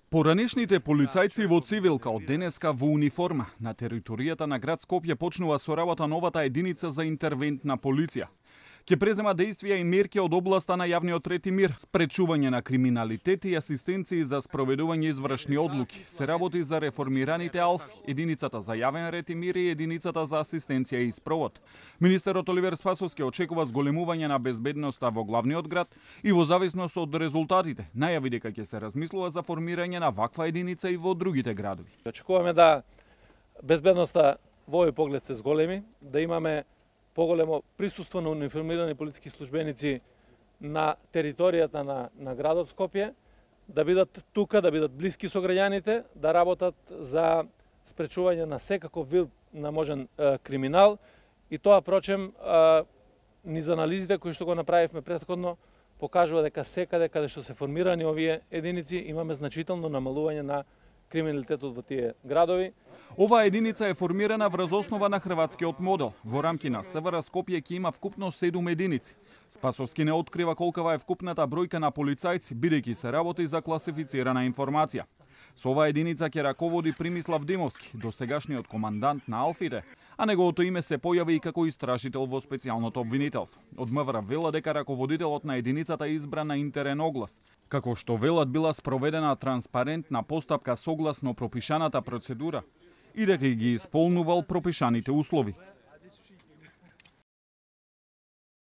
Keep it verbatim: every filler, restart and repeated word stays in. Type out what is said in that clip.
Поранешните полицајци во цивилка од денеска во униформа на територијата на град Скопје почнува со работа новата единица за интервентна полиција. Ќе презема действија и мерки од областа на јавниот ред и мир, спречување на криминалитет и асистенции за спроведување извршни одлуки. Се работи за реформираните АЛФ, единицата за јавен ред и мир и единицата за асистенција и спровод. Министерот Оливер Спасовски очекува зголемување на безбедноста во главниот град и во зависност од резултатите, најави дека ќе се размислува за формирање на ваква единица и во другите градови. Очекуваме да безбедноста во овој поглед се зголеми, да имаме поголемо присуство на униформирани полициски службеници на територијата на, на градот Скопје, да бидат тука, да бидат блиски со граѓаните, да работат за спречување на секаков вид на можен е, криминал, и тоа, прочем, е, низ анализите кои што го направивме претходно, покажува дека секаде каде што се формирани овие единици имаме значително намалување на криминалитетот во тие градови. Оваа единица е формирана врз основа на хрватскиот модел. Во рамки на СВР Скопје ќе има вкупно седум единици. Спасовски не открива колкава е вкупната бројка на полицајци, бидејќи се работи за класифицирана информација. Со оваа единица ќе раководи Примислав Димовски, досегашниот командант на Алфите, а неговото име се појави и како истражител во специјалното обвинителство. Од МВР вела дека раководителот на единицата е избран на интерен оглас, како што велат била спроведена транспарентна постапка согласно пропишаната процедура и дека ги исполнувал пропишаните услови.